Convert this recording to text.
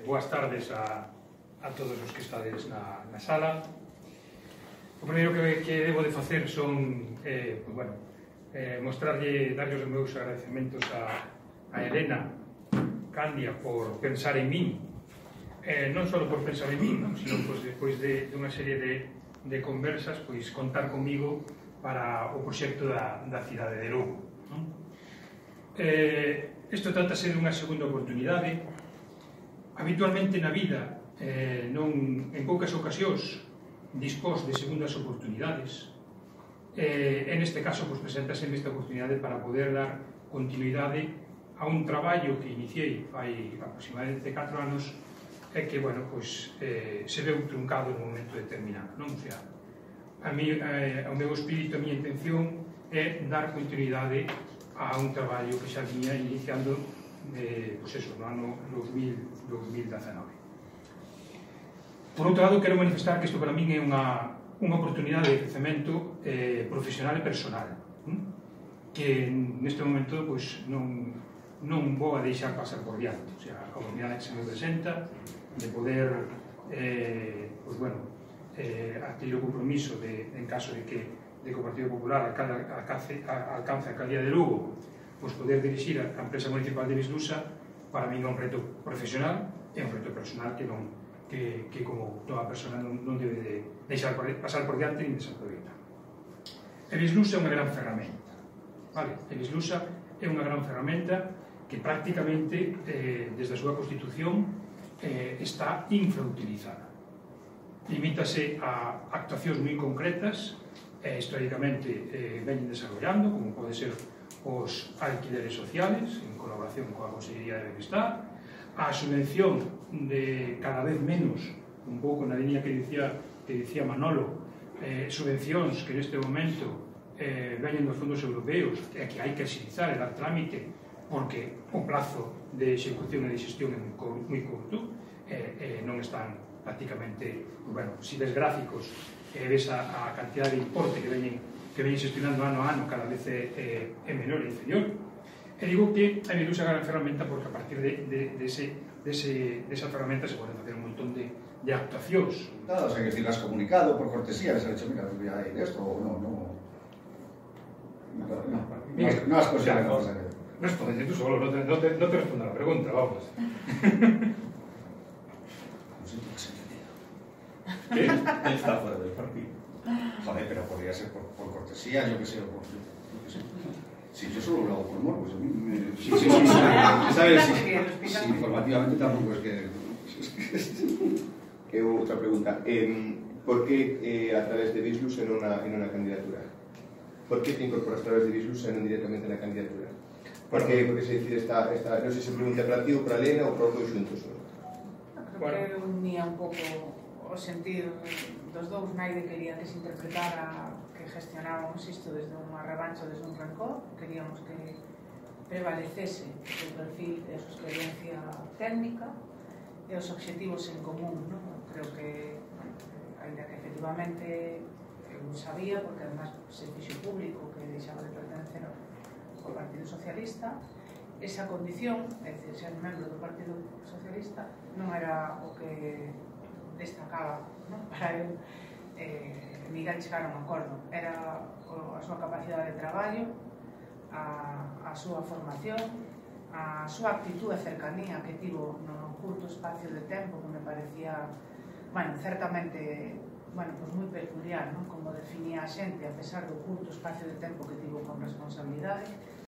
Boas tardes a todos os que estades na sala. O primeiro que debo de facer son darlle os meus agradecementos a Elena Candia por pensar en min, non só por pensar en min, sino despois de unha serie de conversas, contar comigo para o proxecto da cidade de Lugo. Isto trátase de unha segunda oportunidade. Habitualmente na vida, en poucas ocasións, dispós de segundas oportunidades. En este caso, presentase esta oportunidade para poder dar continuidade a un traballo que iniciei hai aproximadamente 4 anos e que, se veu truncado nun momento determinado. O meu espírito, a miña intención é dar continuidade a un traballo que xa viña iniciando no ano 2019. Por outro lado, quero manifestar que isto para min é unha oportunidade de crecemento profesional e personal, que neste momento non vou a deixar pasar por diante. A oportunidade que se me presenta de poder adquirir o compromiso en caso de que o Partido Popular alcance a alcaldía de Lugo, poder dirixir a empresa municipal de Vislusa, para mí é un reto profesional e un reto personal que como toda persona non debe de deixar pasar por diante nin desaproveitar. E Vislusa é unha gran ferramenta. E Vislusa é unha gran ferramenta que prácticamente, desde a súa constitución, está infrautilizada. Limítase a actuacións moi concretas e históricamente veñen desarrollando, como pode ser os alquileres sociales, en colaboración coa Consellería de Benestar, a subvención de cada vez menos, un pouco na línea que dicía Manolo, subvencións que neste momento veñen dos fondos europeos e que hai que agilizar e dar trámite porque o plazo de execución e de xestión é moi curto e non están prácticamente, si ves gráficos e ves a cantidad de importe que veñen xestionando ano a ano, cada vez é menor e inferior. E digo que a Vislusa é unha gran ferramenta porque a partir desa ferramenta se poden facer un montón de actuacións. Nada, que decir, has comunicado por cortesía, les has dicho, mira, hay esto o no. No has conseguido la cosa. Responde tú solo, no te respondo a la pregunta, vamos. No sé, tú has entendido. ¿Qué? Está fuera del partido. Joder, pero podría ser por cortesía, yo qué sé, o por... Sí, yo solo lo hago por morbo, pues a mí me... Sí, ¿sabes? Sí, informativamente tampoco es que... Outra pregunta. Por que a través de Vislusa en una candidatura? Por que te incorporas a través de Vislusa e non directamente na candidatura? Porque se decide esta... Non sei se pregunta para ti ou para Elena ou para os dois xuntos. Creo que unía un pouco o sentido dos dous. Naide quería que se interpretara que gestionábamos isto desde unha revancha, desde un rancor. Queríamos que prevalecese o perfil e a súa experiencia técnica e os obxectivos en común. Creo que, ainda que efectivamente eu sabía, porque además se fixo público que deixaba de pertenecer ao Partido Socialista, esa condición, é dicir, ser membro do Partido Socialista, non era o que destacaba para el Miguel chegar a un acordo. Era a súa capacidade de traballo, a súa formación, a súa actitud e cercanía que tivo no curto espacio de tempo, que me parecía, certamente, moi peculiar, como definía a xente, a pesar do curto espacio de tempo que tivo con responsabilidade,